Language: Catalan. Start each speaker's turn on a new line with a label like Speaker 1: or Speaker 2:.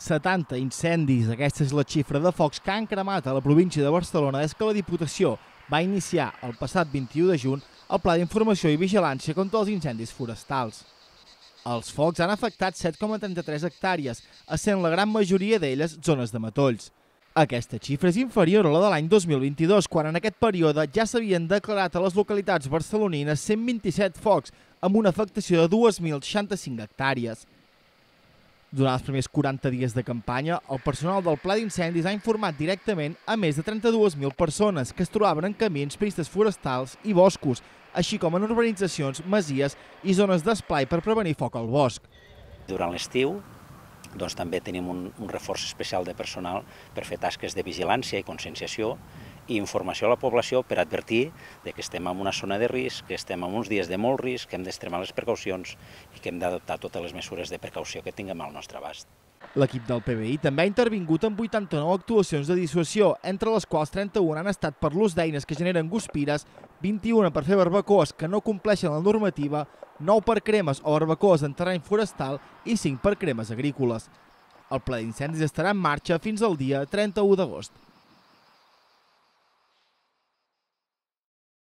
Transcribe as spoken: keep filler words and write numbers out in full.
Speaker 1: setanta incendis. Aquesta és la xifra de focs que han cremat a la província de Barcelona des que la Diputació va iniciar el passat vint-i-u de juny el Pla d'Informació i Vigilància contra els incendis forestals. Els focs han afectat set coma trenta-tres hectàrees, essent la gran majoria d'elles zones de matolls. Aquesta xifra és inferior a la de l'any dos mil vint-i-dos, quan en aquest període ja s'havien declarat a les localitats barcelonines cent vint-i-set focs, amb una afectació de dos mil seixanta-cinc hectàrees. Durant els primers quaranta dies de campanya, el personal del Pla d'Incendis ha informat directament a més de trenta-dues mil persones que es trobaven en camins, pistes forestals i boscos, així com en urbanitzacions, masies i zones d'esplai per prevenir foc al bosc.
Speaker 2: Durant l'estiu doncs, també tenim un, un reforç especial de personal per fer tasques de vigilància i conscienciació i informació a la població per advertir de que estem en una zona de risc, que estem en uns dies de molt risc, que hem d'extremar les precaucions i que hem d'adoptar totes les mesures de precaució que tinguem al nostre abast.
Speaker 1: L'equip del P B I també ha intervingut en vuitanta-nou actuacions de dissuasió, entre les quals trenta-u han estat per l'ús d'eines que generen guspires, vint-i-una per fer barbacoes que no compleixen la normativa, nou per cremes o barbacoes en terreny forestal i cinc per cremes agrícoles. El pla d'incendis estarà en marxa fins al dia trenta-u d'agost.